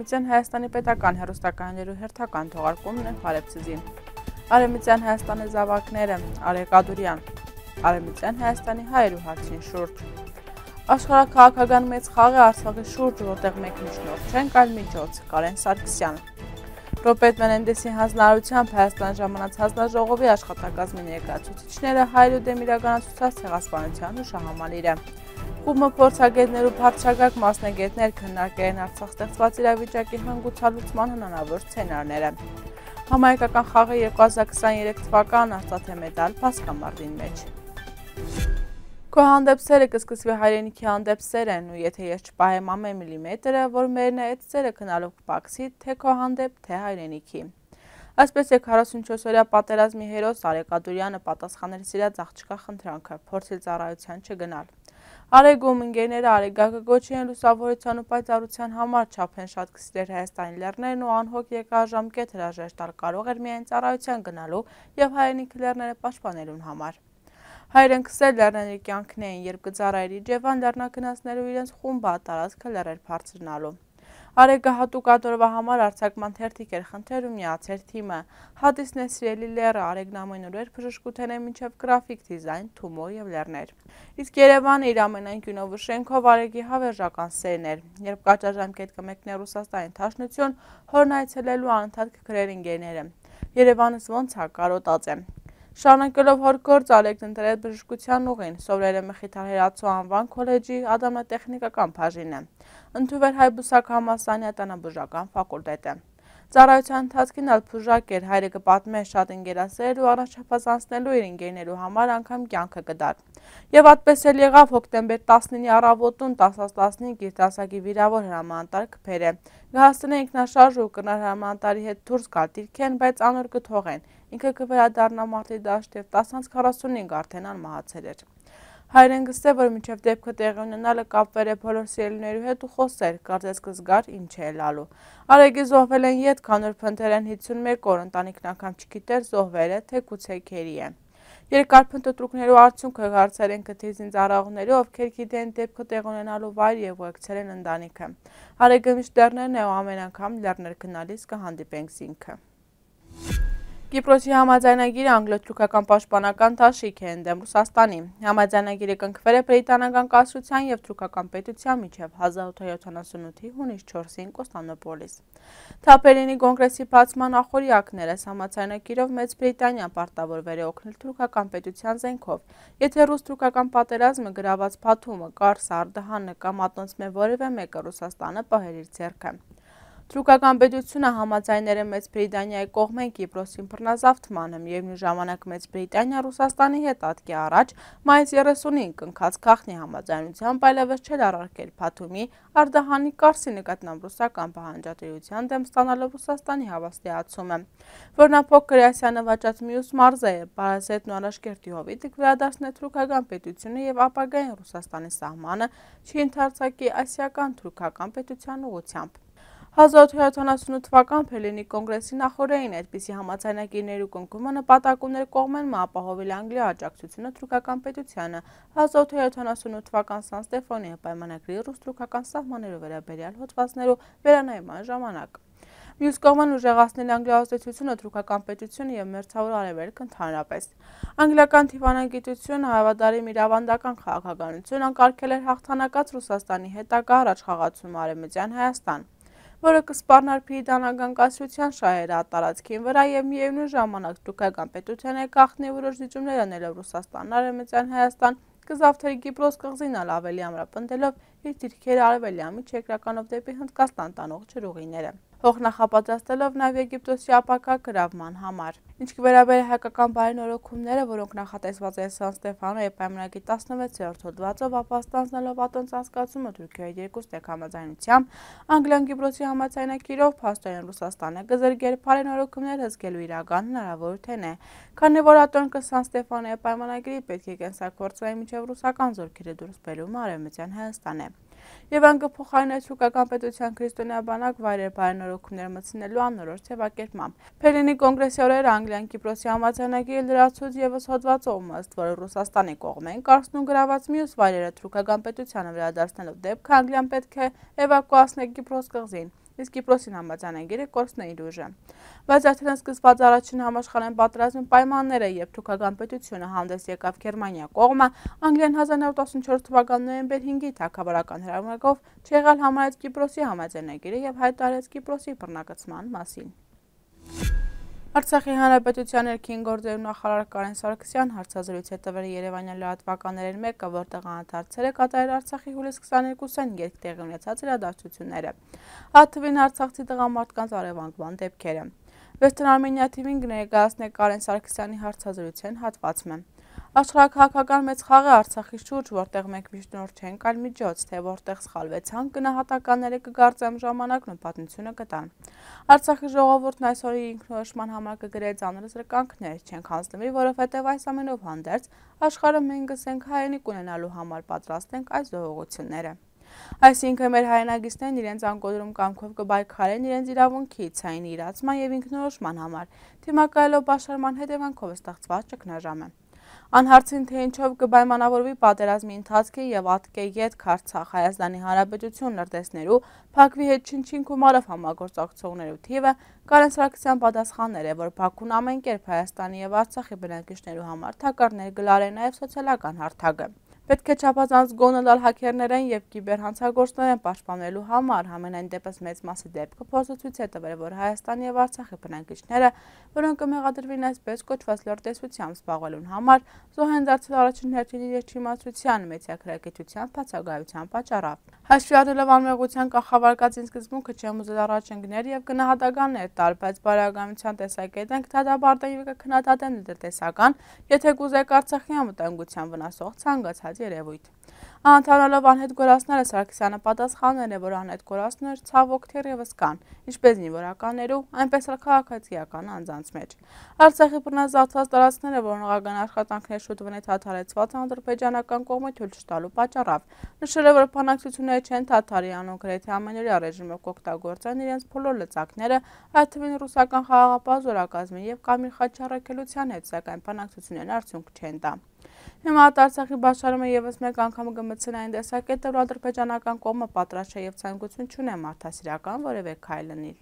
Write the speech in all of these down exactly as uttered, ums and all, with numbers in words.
Արևմտյան Հայաստանի պետական հեռուստակայաններու հերթական թողարկումն է, Փարեփցիզին։ Արևմտյան Հայաստանի զաւակները, Արեգ Ադուրեան։ Արևմտյան Հայաստանի հայերու հարցին շուրջ։ Աշխարհաքաղաքական մեծ խաղ է Արցախի շուրջ, որտեղ մենք միշտ նոր չենք, այլ միջոց, Կարեն Սարգսեան։ Ռոպերտ Մենենդեսի հանձնարարությամբ Հայաստան ժամանած հանձնաժողովի աշխատակազմի ներկայացուցիչները հայերու դէմ իրականացուցած ցեղասպանութեան յուշահամալիրը։ Խումբը փորձագետներ ու բարձրագակ մասնագետներ քննարկել են Արցախ ստեղծված իրավիճակի հանգուցալուծման հնարավոր սցենարները։ Համահայկական խաղը երկու հազար քսաներեք թվական արծաթե մեդալ Պասկամարտին մէջ։ Քո հանդեպ սերը կը սկսուի հայրենիքի հանդեպ սերէն, ու եթե ես չպահեմ ամեն միլիմետրը, որ մերն է, այդ սերը գնալով կպակսի թէ քո հանդեպ, թէ հայրենիքի։ Այսպես է քառասունչորս օրյա պատերազմի հերոս Արեգ Ադուրեանը պատասխանել սիրած աղջկա խնդրանքը, փորձել ծառայության չգնալ։ Արեգ ու ընկերները Արեգակը կոչի են լուսավորության ու պայծառության համար, չափեն շատ կը սիրէր Հայաստանի լեռներն ու անհոգ երկար ժամկետ հրաժեշտ տալ կարող էր միայն ծառայության գնալու եւ հայրենիքի լեռները պաշտպանելուն համար։ Հայրենիքը լեռներն իր կեանքն էին, երբ կը ծառայէր Իջեվան լեռնագնացներու իրենց խումբը, տարածքը լեռեր բարձրնալու։ Արեգը յատուկ ատորվա համար արձակման թերթիկ էր խնդրել ու միացեր թիմը։ Հատիսն է սիրելի լեռը, Արեգն ամէն օրեր բժշկութենէ մինչեւ գրաֆիկ դիզայն, Թումո եւ լեռներ։ Իսկ Երեւանը իր ամենայն կինով ու շենքով Արեգի հավերժական սերն էր։ Երբ կարճաժամկետ կը մեկնէ Ռուսաստանի Դաշնութիւն, հորն այցելելու անընդհատ կը գրեր ընկերները։ Երեւանս ոնց ա, կարոտած է։ Շարունակելով հոր գործ, Արեգն ընտրել բժշկության ուղին, սովրել է Մխիթար Հերացու անուան քոլեջի ատամնատեխնիկական բաժինը։ Ընդունուեր Հայ բուսակ համալսարանի ատանաբուժական ֆակուլտետը։ Ծառայության ընթացքին ալ բուժակ էր, հայրը կը պատմէ, շատ ընկերասեր էր ու առաջապազ անցնելու իր ընկերներու համար անգամ կեանքը կը տար։ Եւ այդպես էլ եղաւ, հոկտեմբեր տասնինի առավոտուն տասը տասնհինգ իր դասակի վիրաւոր հրամանատար կը բերէ։ Կը հասցնէ ինքնաշարժ ու կրնար հրամանատարի հետ դուրս գալ դիրքէն, բայց անոր կը թողեն։ Ինքը կը վերադառնայ մարտի դաշտ եւ տասանց քառասունհինգ արդէն անմահացել էր։ Հայրեն կ'ըսէ, որ մինչեւ դէպքը տեղի ունենալը կապուեր է բոլոր սիրելիներու հետ ու խօսեր, կարծես կը զգար ինչ է ըլլալու։ Արեգի զոհուելէն ետք անոր փնտռեր են հիցսունմէկ օր, ընտանիքն անգամ չգիտեր զոհուեր է, թէ գուցե գերի է։ Երկար փնտռունքներու արդիւնքը հարցեր են կտրիզին ծառայողներու, ովքեր գիտեն դէպքը տեղի ունենալու վայր եւ ուղեկցել են ընտանիքը։ Արեգը միշտ լեռներն է ու ամէն անգամ լեռներ գնալիս կը հանդիպենք զինքը։ Կիպրոսի համաձայնագիրը անգլիոթ-թուրքական պաշտպանական դաշինք է ընդդեմ Ռուսաստանի։ Համաձայնագիրը կնքուեր է բրիտանական կայսրութեան եւ թուրքական պետութեան միջեւ հազար ութ հարյուր յոթանասունութի հունիս չորսին Կոստանդնուպոլիս։ Թա Պերլինի կոնգրեսի բացման ախորյակներս համաձայնագիրով Մեծ Բրիտանիան պարտավորուեր է օգնել թուրքական պետութեան զէնքով, եթե ռուս-թուրքական պատերազմը, գրաւած Բաթումը, Կարսը, Արդահանը կամ ատոնցմէ որեւէ մէկը Ռուսաստանը պահեր իր ձեռքը։ Թուրքական պետութիւնը համաձայներ է Մեծ Բրիտանիայի կողմէն Կիպրոսին բռնազավթմանը, միեւնոյն ժամանակ Մեծ Բրիտանիա Ռուսաստանի հետ ատկի առաջ մայիս երեսունին կնքած գաղտնի համաձայնությամբ այլեւս չէր առարկել Բաթումի, Արդահանի, Կարսի նկատմամբ ռուսական պահանջատիրութեան դէմ ստանալով Ռուսաստանի հաւաստիացումը, որ նա փոքր Ասիա նվաճած միւս մարզերը, Պարասետն ու Արաշկերտի հովիտը կվերադարձնէ թուրքական պետութիւնը եւ ապագային Ռուսաստանի սահմանը չի ընդարձակի ասիական թուրքական պետութեան ուղղութեամբ։ Հազար ութ հարյուր յոթանասունութ թուական Պերլինի կոնգրեսի նախօրեին այդպիսի համաձայնագիրներու կնքումը նպատակ ուներ կողմէն մը ապահովել Անգլիոյ աջակցությունը թուրքական պետութեանը հազար ութ հարյուր յոթանասունութ թուական Սան Ստեֆանոյի պայմանագրի ռուս-թուրքական սահմաններու վերաբերեալ հոդվածներու վերանայման ժամանակ։ Մյուս կողմէն ուժեղացնել Անգլիոյ ազդեցութիւնը թուրքական պետութիւնը եւ Մերձաւոր Արեւելք ընդհանրապես։ Անգլիական դիվանագիտությունը, հաւատարիմ իր աւանդական քաղաքականություն, անկարգել էր յաղթանակած Ռուսաստանի հետագայ առաջխաղացումը Արեւմտեան Հայաստան, որը կը սպառնար բրիտանական կայսրութեան շահերը այդ տարածքին վրայ եւ միեւնոյն ժամանակ թուրքական պետութեան հետ գաղտնի որոշ զիջումներ անելով Ռուսաստանն Արեւմտեան Հայաստան կը զավթեր Կիպրոս կղզին ալ ավելի ամրապնդելով իր դիրքերը արեւելյան միջերկրականով դէպի Հնդկաստան տանող ջրուղիները, հող նախապատրաստելով նաեւ Եգիպտոսի ապագայ գրաւման համար։ Ինչ կը վերաբերէ հայկական բարենորոգումները, որոնք նախատեսուած են Սան Ստեֆանոյի պայմանագի տասնվեցերորդ հոդվածով, ապա ստանձնելով ատոնց անցկացումը Թուրքիոյի երկուստեք համաձայնությամբ, Անգլիան Կիպրոսի համաձայնագիրով փաստորեն Ռուսաստանը կը զրկեր բարենորոգումներ հսկելու իրական հնարաւորութենէ, քանի որ ատոնքը Սան Ստեֆանոյի պայմանագիրի պէտք է կենսագործուի մինչեւ ռուսական զօրքերը դուրս բերումը Արեւմտեան Հայաստանէ։ Եւ ան կը փոխարինէ թուրքական պետութեան քրիստոնեայ բանակ վայրեր բարենորոգումներ մտցնելու անորոշ ձեւակերպմամբ։ Պերլինի կոնգրեսի օրերը Անգլիան Կիպրոսի համաձայնագիրը լրացուց եւս հոդվածով, ըստ որը Ռուսաստանի կողմէն Կարսն ու գրաւած միւս վայրերը թուրքական պետութեանը վերադարձնելով դէպքը Անգլիան պէտք է էվակուացնէ Կիպրոս կղզին, իսկ Կիպրոսին համաձայնագիրը կորցնէ իր ուժը։ Բայց արդեն սկսուած առաջին համաշխարհային պատերազմի պայմանները, երբ թուրքական պետութիւնը հանդէս եկաւ Գերմանիա կողմը, Անգլիան հազար նոր տասնչորս թվական նոյեմբեր հինգի թագաւորական հրամանով չեղալ համարեց Կիպրոսի համաձայնագիրը եւ հայտարարեց Կիպրոսի բռնակցման մասին։ Արցախի Հանրապետութեան ներքին գործերու նախարար Կարեն Սարգսեան հարցազրոյց է տվել երեւանեան լրատուականներէն մէկը, որտեղ անդրադարձեր է կատարել Արցախի հուլիսի քսաներկուսին երկ տեղի ունեցած իրադարձութիւնները, այդ թուին արցախցի տղամարդկանց առեւանգման դէպքերը։ Western Armenia T V-ին կը ներկայացնէ Կարեն Սարգսեանի հարցազրոյցէն հատուած մը։ Աշխարհաքաղաքական մեծ խաղ է Արցախի շուրջ, որտեղ մենք միշտ նոր չենք, այլ միջոց, թէ որտեղ սխալուեցանք, գնահատականները կը կարծեմ ժամանակն ու պատմությունը կտան։ Արցախի ժողովուրդն այսօր իր ինքնորոշման համար կը գրէ ծանր զրկանքներ, չենք յանձնուի, որովհետեւ այս ամենով հանդերձ աշխարհը մենք կ'ըսենք հայրենիք ունենալու համար պատրաստ ենք այս զոհողութիւնները։ Այսինքն մեր հայրենակիցներն իրենց անկոտրում կամքով կը պայքարեն իրենց իրաւունքի, ցայնի իրացման եւ ինքնորոշման համար, դիմակայելով պաշարման հետեւանքով ստեղծուած ճգնաժամը։ Անհարցին, թէ ինչով կը պայմանավորուի պատերազմի ընթացքը եւ ատկէ ետք Արցախ Հայաստանի Հանրապետութիւն լրտեսներու Բաքվի հետ չնչին գումարով համագործակցողներու թիւը, Կարեն Սարգսեան պատասխանել է, որ Բաքուն ամէն կերպ Հայաստանի եւ Արցախի բնակիչներու համար թակարդներ կը լարէ նաեւ սոցիալական հարթակը։ Պէտք է չափազանց գոնը տալ հաքերներէն եւ կիբերհանցագործներէն պաշտպանելու համար, համենայն դեպս մեծ մասի դէպքը փորձը ցոյց է տվել, որ Հայաստանի եւ Արցախի բնակիչները, որոնք կը մեղադրուին այսպես կոչուած լրտեսությամբ զբաղուելուն համար, զոհ են դարձել առաջին հերթին իրենց չիմացութեան, մեծագրագիտութեան, բացակայութեան պատճառով։ Հաշուի առնելով անմեղութեան կախավարկածին սկզբունքը, չեմ ուզել առաջ ընկնել եւ գնահատականներ տալ, բայց բարեկամության տեսակետէն կը դատապարտեմ եւ կը քննադատեմ լրտեսական, եթե կուզէք, Արցախի անվտանգութեան վնասող ցանկացած երեւոյթ։ Անդանալով անհետ կորածները, Սարգսեանը պատասխանել է, որ անհետ կորածներ ցաւոք թերեւս կան, ինչպես զինուորականներու, այնպես ալ քաղաքացիական անձանց մէջ։ Արցախի բռնազավթած տարածքները, որ օնողական աշխատանքներ շուտ վնեթ դադարեցուած ադրբեջանական կողմը թոյլ չտալու պատճառով, նշել է, որ բանակցությունները չեն դադարի, անոնք գրեթե ամենօրեայ ռեժիմով կօգտագործեն իրենց բոլոր լծակները, այդ թուին ռուսական խաղաղապահ զօրակազմին եւ Կամիլ Խաչի առաքելութեան հետ, սակայն բանակցություններն արդիւնք չեն տայ։ Հիմա Արցախի պաշարումը եւս մէկ անգամ կը մտցնէ այն տեսակետը, որ ադրբեջանական կողմը պատրաստ չէ եւ ցանկութիւն չունէ մարդասիրական որեւէ քայլ ընել։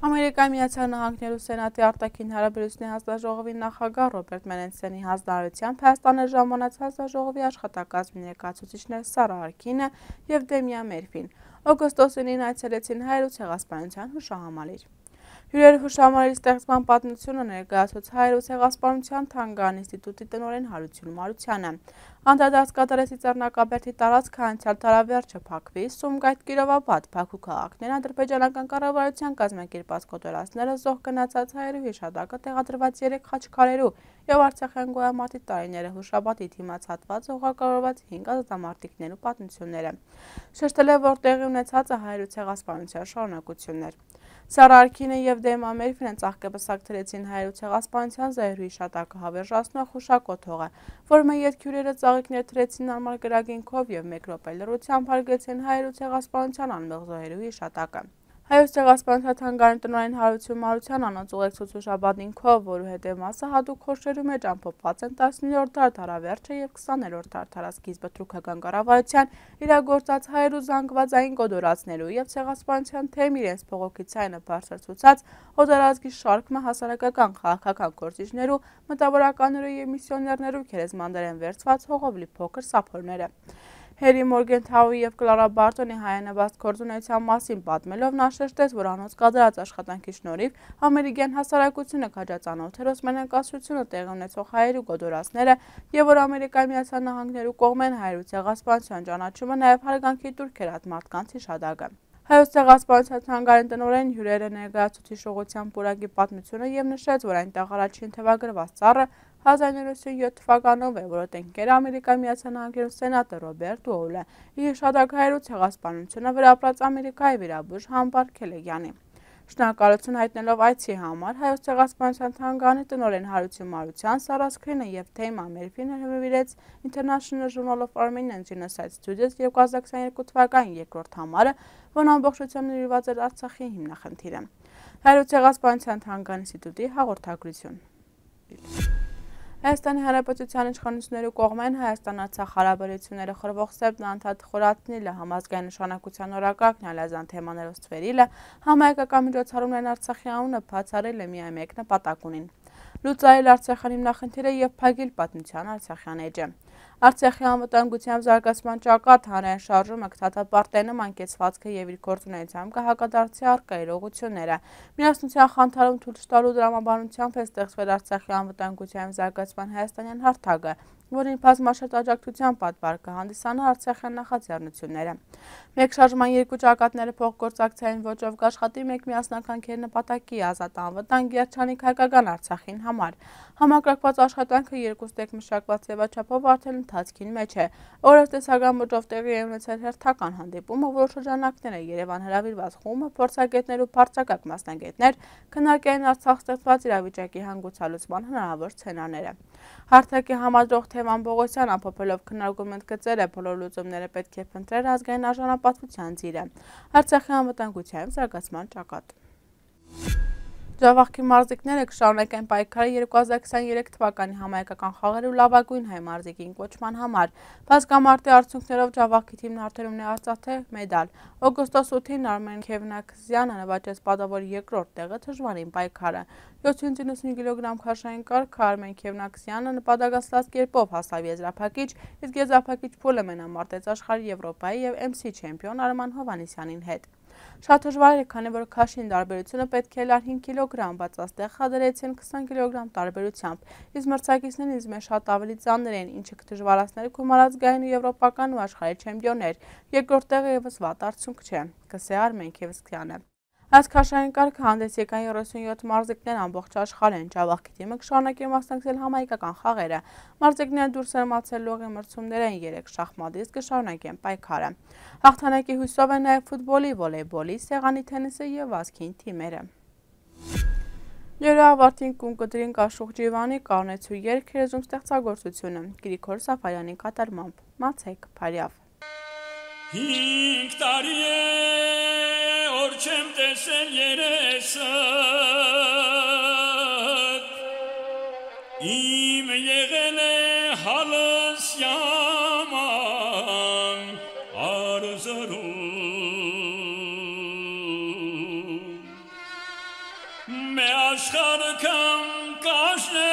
Ամերիկայի Միացյալ Նահանգներու Սենատի արտաքին հարաբերութիւնների հանձնաժողովի նախագահ Ռոբերտ Մենենսենի հանձնարարութեամբ Հայաստանը ժամանած հանձնաժողովի աշխատակազմի ներկայացուցիչներ Սարա Արքինը եւ Դեմիա Մերֆին Օգոստոսին ինը այցելեցին Հայերու ցեղասպանութեան յուշահամալիր։ Հիւրեր յուշահամալիրի ստեղծման պատմութիւնը ներկայացուց Հայերու ցեղասպանութեան թանգարան ինստիտուտի տնօրէն Հարություն Մարութեանը։ Անդրադարձ կատարեցի Ծառնակաբերդի տարածքը անցեալ տարեվերջը Բաքվի, Սումկայթ, Կիրովաբադ, Բաքու քաղաքներն ադրբեջանական կառավարութեան կազմակերպած կոտորածները զոհ գնացած հայերու յիշատակը տեղադրուած երեք խաչքարերու եւ Արցախեան գոյամարտի տարիները յուշապատի դիմաց հատված ուղղակարորուած հինգ ազատամարտիկներու պատմութիւնները։ Շեշտել է, որ տեղի ունեցածը Հայերու ցեղասպանութեան շարունակութիւնն էր։ Սարա Արքինը եւ Դեմիա Մերֆինը ծաղկեպսակ դրեցին Հայերու ցեղասպանութեան զոհերու յիշատակը, հավերժացնող յուշակոթողը, որ մը ետք հիւրերը ծաղիկներ դրեցին անմար կրակին քով եւ մէկ րոպէ լռութեամբ հարգեցին Հայերու ցեղասպանութեան անմեղ զոհերու յիշատակը։ Հայոց ցեղասպանության թանգարանի տնօրէն Հարություն Մարութեան անոնց ուղեկցուց յուշապատին քով, որու հետեւ մասը յատուկ խորշերու մէջ ամփոփուած են տասներորդ դար դարավերջը եւ քսաներորդ դար դարասկիզբը թուրքական կառավարութեան իրագործած հայերու զանգվածային կոտորածներու եւ ցեղասպանութեան թեմ իրենց բողոքի ձայնը բարձրացուցած օտարազգի շարք մը հասարակական, քաղաքական գործիչներու, մտավորականներու եւ միսիոներներու գերեզմաններէն վերցուած հողով լի փոքր սափորները։ Հերի Մորգենթաուի եւ Կլարա Բարտոնի հայանպաստ գործունեության մասին պատմելով՝ նա շեշտեց, որ անոնց կատարած աշխատանքի շնորհիվ ամերիկեան հասարակությունը քաջածանօթ էր Օսմանեան կայսրութիւնը տեղի ունեցող հայերու կոտորածները եւ որ Ամերիկայի Միացյալ Նահանգներու կողմէն Հայերու ցեղասպանութեան ճանաչումը նաեւ հարգանքի տուրք էր այդ մարդկանց յիշատակը։ Հայոց ցեղասպանության թանգարանի տնօրէն հիւրերը ներկայացուց յիշողութեան պուրակի պատմութիւնը եւ նշեց, որ այնտեղ առաջին թեւագրուած ծառը հազար նոյ հարիւր յիսուն յոթ թվականով է, որը տնկեր Ամերիկայի Միացյալ Նահանգներու Սենատը Ռոբերտ Ուոլը, իր յիշատակ Հայերու ցեղասպանությունը վրայ ապրած Ամերիկայի վիրաբույժ Համբար Քելեգեանի։ Շնորհակալութիւն յայտնելով այցի համար, Հայոց ցեղասպանության թանգարանի տնօրէն Հարություն Մարութեան, Սարա Սքրինը եւ Թեյմ Ամերֆին հրաւիրեց International Journal of Armenian Genocide Studies երկու հազար քսաներկու թվականին երկրորդ համարը, որն ամբողջությամբ նվիրված էր Արցախի հիմնախնդիրը։ Հայոց ցեղասպանության թանգարանի ինստիտուտի հաղորդագրութիւն։ Հայաստանի Հանրապետութեան իշխանութիւններու կողմէն Հայաստան-Արցախ հարաբերութիւնները խորհուող Սերբն անդադ խորացնիլը, համազգային նշանակութեան օրակարգն ալ ազան թեմաներով ստուերիլը, համայնքական միջոցառումներն Արցախի անունը բացառելը միայն մէկ նպատակ ունին. լուծարել Արցախի հիմնախնդիրը եւ փակել պատմութեան Արցախի էջը։ Արցախի անվտանգութեան զարգացման ճակատ հանրային շարժումը կը դատապարտէ նման կեցուածքը եւ իր գործունեությամբ կը հակադարձի առկայ իրողութիւնները։ Միասնութեան խանդարում թոյլ չտալու տրամաբանությամբ է ստեղծվել Արցախի անվտանգութեան զարգացման հայաստանեան հարթակը, որին բազմաշերտ աջակցութեան պատվար կը հանդիսանայ Արցախեան նախաձեռնութիւնները։ Մէկ շարժման երկու ճակատները փոխգործակցային ոճով կ'աշխատի մէկ միասնական գերնպատակի՝ ազատ անվտանգ երջանիկ հայկական Արցախին համար։ Համակարգուած աշխատանքը երկուստեք մշակուած ձեւաչափով արդէն ընթացքին մէջ է։ Օրերս տեսական ոճով տեղի է ունեցել հերթական հանդիպումը, որու շրջանակները Երեւան հրաւիրուած խումբը, փորձագէտներ ու բարձրակարգ մասնագէտներ քննարկեին Արցախ ստեղծուած իրավիճակի հանգուցալուծման հնարաւոր սցենարները։ Հարթակի համադրող Թեման Պողոսեան ամփոփելով քննարկում ընդգծել է, բոլոր լուծումները պէտք է փնտրել ազգային արժանապատվութեան ծիրը, Արցախի անվտանգութեան զարգացման ճակատ։ Ջաւախքի մարզիկները կը շարունակեն պայքարը երկու հազար քսաներեք թուականի համայնքական խաղերու լաւագոյն հայ մարզիկին կոչման համար։ Բազկամարտի արդյունքներով Ջաւախքի թիմն արդեն ունի արծաթե մեդալ։ Օգոստոս ութին Արմէն Քեւնաքզեանը նուաճեց պատաւոր երկրորդ տեղը դժուարին պայքարը։ Յոթ կիլոգրամ քաշային կարգը Արմէն Քեւնաքզեանը նպատակասլաց կերպով հասաւ եզրափակիչ, իսկ եզրափակիչ փուլը մենամարտեց աշխարհի, Եվրոպայի եւ M C չեմպիոն Արման Հովհաննիսեանին հետ։ Շատ դժուար էր, քանի որ քաշին տարբերությունը պէտք է ըլլար հինգ կիլոգրամ, բայց այստեղ խաղ դրեցին քսան կիլոգրամ տարբերությամբ, իսկ մրցակիցներն ինձ մէջ շատ աւելի ծանր էին, ինչը կը դժուարացնէր գումարած գային ու եվրոպական ու աշխարհի չեմպիոններ։ Երկրորդ տեղը եւս վատ արդյունք չէ, կ'ըսէ Արմէն Քեվսքեանը։ Այս քաշային կարգը հանդես եկան երեսունյոթ մարզիկներ ամբողջ աշխարհէն։ Ջաւախքի թիմը կը շարունակի մասնակցել համայնքական խաղերը։ Մարզիկները դուրս են մացել լողի մրցումներէն երեք շախմատից, կը շարունակեն պայքարը։ Հաղթանակի հոյսով են նաեւ ֆուտբոլի, վոլեյբոլի, սեղանի թենիսի եւ վազքին թիմերը։ Լեւրայ ավարտին կուն կտրին Կաշուղ Ջիվանի կարնեցու երգ երեզում ստեղծագործությունը Գրիգոր Սաֆարյանի կատարմամբ։ Մացեք բարեաւ։ Հինգ տարի է, որ չեմ տեսել երեսդ, իմ եղել է հալս յաման արզրում։ Մէ աշխարհ կամ կաշնե